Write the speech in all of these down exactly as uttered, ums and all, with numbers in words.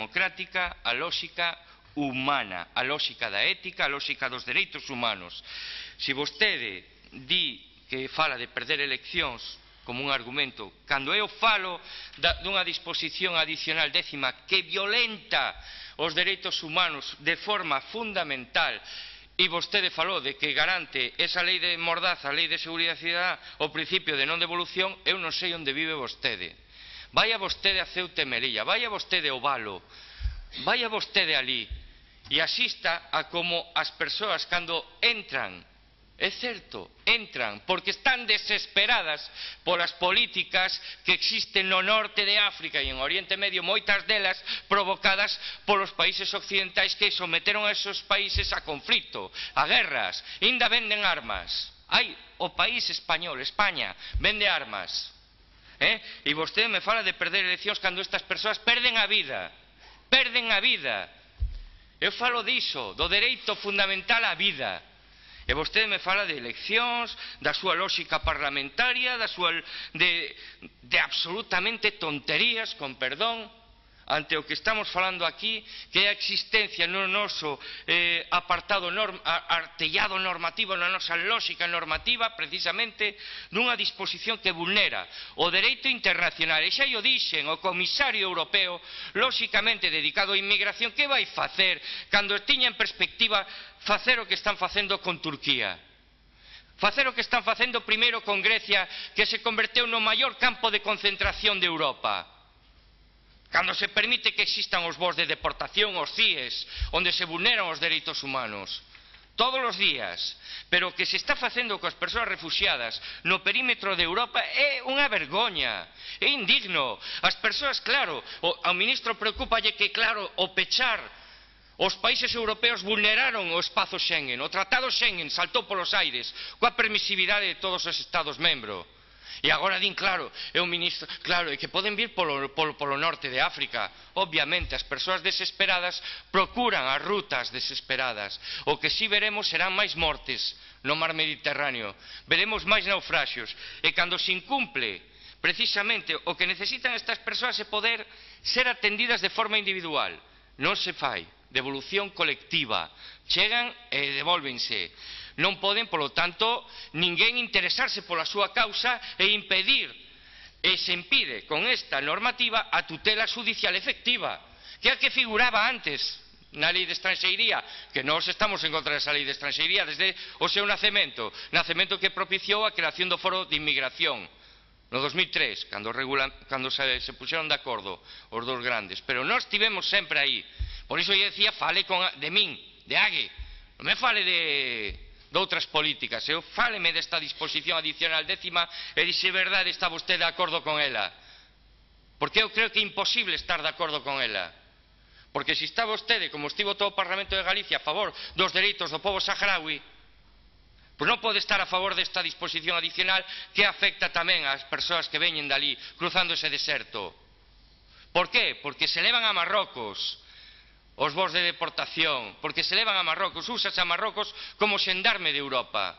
democrática, a lóxica humana, a lóxica da ética, a lóxica dos dereitos humanos. Se vostede di que fala de perder eleccións como un argumento, cando eu falo dunha disposición adicional décima que violenta os dereitos humanos de forma fundamental, e vostede falou de que garante esa lei de mordaza, a lei de seguridade cidadá, o principio de non devolución, eu non sei onde vive vostede. Vaya vostede a Ceuta e Melilla, vaya vostede ao Valo, vaya vostede ali e asista a como as persoas cando entran, é certo, entran porque están desesperadas polas políticas que existen no norte de África e en Oriente Medio, moitas delas provocadas polos países occidentais que someteron a esos países a conflito, a guerras, ainda venden armas. Ai, o país español, España, vende armas. Eh? E vostede me fala de perder eleccións cando estas persoas perden a vida, perden a vida. Eu falo diso, do dereito fundamental á vida. E vostede me fala de eleccións, da súa lógica parlamentaria, da súa de, de absolutamente tonterías, con perdón, ante o que estamos falando aquí, que é a existencia no noso eh, apartado norm, artellado normativo, na nosa lógica normativa, precisamente, dunha disposición que vulnera o dereito internacional. E xa o dixen, o comisario europeo, lógicamente dedicado á inmigración, que vai facer cando tiña en perspectiva facer o que están facendo con Turquía? Facer o que están facendo primeiro con Grecia, que se converteu no maior campo de concentración de Europa. Cando se permite que existan os voos de deportación, os C I Es, onde se vulneran os dereitos humanos. Todos os días. Pero o que se está facendo coas persoas refuxiadas no perímetro de Europa é unha vergoña. É indigno. As persoas, claro, ao ministro preocúpalle que, claro, o pechar os países europeos vulneraron o espazo Schengen, o tratado Schengen saltou polos aires coa permisividade de todos os estados membros. E agora din, claro, é un ministro, claro, é que poden vir polo, polo, polo norte de África. Obviamente, as persoas desesperadas procuran as rutas desesperadas. O que si veremos serán máis mortes no mar Mediterráneo, veremos máis naufraxios, e cando se incumple precisamente o que necesitan estas persoas é poder ser atendidas de forma individual. Non se fai. Devolución colectiva. Chegan e devólvense. Non poden, polo tanto, ninguén interesarse pola súa causa e impedir, e se impide con esta normativa a tutela judicial efectiva, que é a que figuraba antes na lei de estranxeiría, que nós estamos en contra desa lei de estranxeiría desde o seu nacemento, nacemento que propiciou a creación do Foro de Inmigración no dos mil tres, cando, regula, cando se, se puxeron de acordo os dous grandes, pero nós estivemos sempre aí. Por iso eu decía, fale con, de min, de Ague, non me fale de, de outras políticas, eu fáleme desta disposición adicional décima e dixe verdade está vostede de acordo con ela, porque eu creo que é imposible estar de acordo con ela, porque se está vostede, como estivo todo o Parlamento de Galicia, a favor dos dereitos do pobo saharaui, pois non pode estar a favor desta disposición adicional que afecta tamén ás persoas que veñen dali, cruzando ese deserto. Por qué? Porque se levan a Marrocos os voos de deportación, porque se levan a Marrocos, úsase a Marrocos como xendarme de Europa.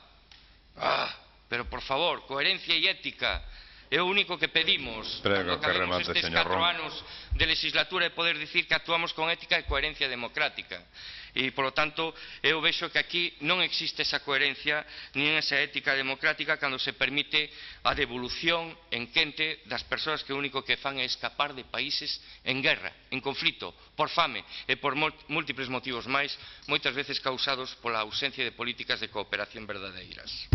Ah, pero por favor, coherencia e ética é o único que pedimos cando acabemos estes catro anos de legislatura, e poder dicir que actuamos con ética e coherencia democrática. E, polo tanto, eu vexo que aquí non existe esa coherencia nin esa ética democrática cando se permite a devolución en quente das persoas que o único que fan é escapar de países en guerra, en conflito, por fame e por múltiples motivos máis, moitas veces causados pola ausencia de políticas de cooperación verdadeiras.